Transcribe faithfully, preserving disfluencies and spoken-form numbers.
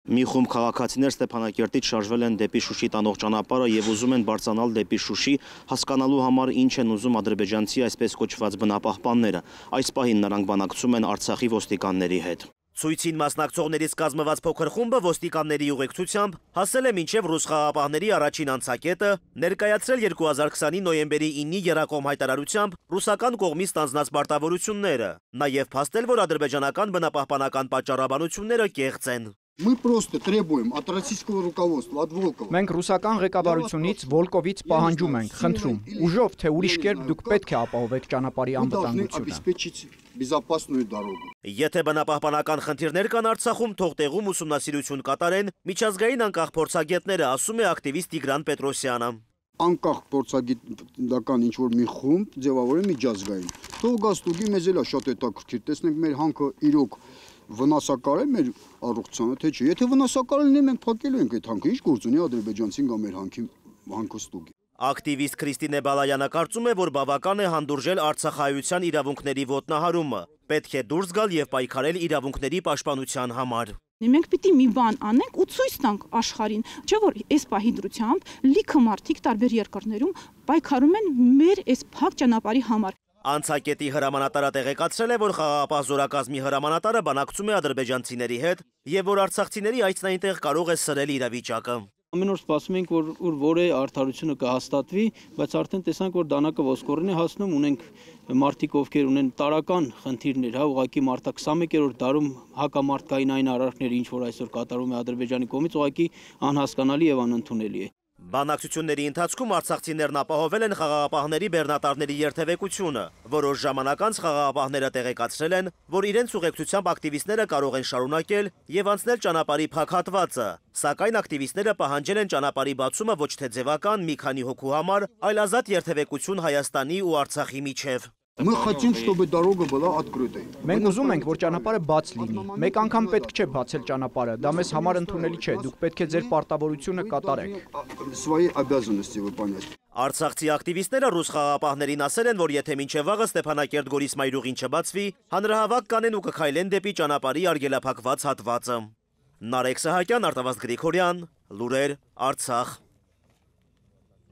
Մի խումբ քաղաքացիներ Ստեփանակերտից շարժվել են դեպի Շուշի տանող ճանապարհը եւ ուզում են բարձրանալ դեպի Շուշի, հասկանալու համար ինչ են ուզում ադրբեջանցի այսպես կոչված բնապահպանները։ Այս պահին նրանք բանակցում են Արցախի ոստիկանների հետ։ Ցույցին մասնակցողներից կազմված փոքր խումբը ոստիկանների ուղեկցությամբ հասել է մինչև ռուս խաղաղապահների առաջին անցակետը, ներկայացրել երկու հազար քսանի նոյեմբերի իննի եռակողմ հայտարարությամբ ռուսական կողմից ստանձնած պարտավորությունները, նաև փաստել, որ ադրբեջանական բնապահպանական պատճառաբանությունները կեղծ են։ Мы просто требуем от российского руководства, от Волкова. Մենք ռուսական ղեկավարությունից Վոլկովից պահանջում ենք, խնդրում, ուժով թե ուրիշ կերպ դուք պետք է ապահովեք ճանապարհի անվտանգությունը։ Եթե բնապահպանական խնդիրներ կան Արցախում, թող տեղում ուսումնասիրություն կատարեն միջազգային անկախ փորձագետները, ասում է ակտիվիստ Տիգրան Պետրոսյանը։ Անկախ փորձագիտական ինչ-որ մի խումբ ձևավորեն միջազգային։ Թող գա ստուգի, մեզ էլ է շատ հետաքրքիր, տեսնենք մեր հանքը իրոք վնասակար է մեր առողջությանը, թե չէ։ Եթե վնասակար լինի, մենք փակելու ենք այդ հանքը, ինչ գործ ունի ադրբեջանցին գա մեր հանքի հանքը ստուգի։ Ակտիվիստ Քրիստինե Բալայանը կարծում է, որ բավական է հանդուրժել արցախայության իրավունքների ոտնահարումը, պետք է դուրս գալ եւ պայքարել իրավունքների պաշտպանության համար։ Մենք պիտի մի բան անենք ու ցույց տանք աշխարհին, չէ՞ որ այս պահի դրությամբ լիքը մարդիկ տարբեր երկրներում պայքարում են մեր այս փակ ճանապարհի համար։ Անցակետի հրամանատարը տեղեկացրել է, որ խաղաղապահ զորակազմի հրամանատարը բանակցում է ադրբեջանցիների հետ եւ որ արցախցիների այցն այնտեղ կարող է սրել իրավիճակը։ Ամեն օր սպասում ենք, որ ուր որ է արդարությունը կհաստատվի, բայց արդեն տեսանք, որ դանակը ոսկորին է հասնում, ունենք մարդիկ, ովքեր ունեն տարական խնդիրներ, հա, ուղղակի մարտա քսանմեկերորդ դարում հակամարտկային այն արարքները, ինչ որ այսօր կատարում է Ադրբեջանի կողմից, ուղղակի անհասկանալի եւ անընդունելի է։ Բանակցությունների ընթացքում արցախցիներն ապահովել են խաղաղապահների բեռնատարների երթևեկությունը, որոշ ժամանակ անց խաղաղապահները տեղեկացրել են, որ իրենց ուղեկցությամբ ակտիվիստները կարող են շարունակել եւ անցնել ճանապարհի փակ հատվածը, սակայն ակտիվիստները պահանջել են ճանապարհի բացումը ոչ թե ձևական մի քանի հոգու համար, այլ ազատ երթևեկություն Հայաստանի ու Արցախի միջև։ Мы хотим, чтобы дорога была открытой. Մենք ուզում ենք, որ ճանապարհը բաց լինի։ Մեկ անգամ պետք չէ բացել ճանապարհը, դա մեզ համար ընդունելի չէ, դուք պետք է ձեր պարտավորությունը կատարեք։ Свои обязанности выполнять. Արցախցի ակտիվիստները ռուս խաղաղապահներին ասել են, որ եթե մինչև վաղը Ստեփանակերտ-Գորիս մայրուղին չբացվի, հանրահավաք կանեն ու կքայլեն դեպի ճանապարհի արգելափակված հատվածը։ Նարեկ Սահակյան, Արտավազդ Գրիգորյան, Լուրեր, Արցախ։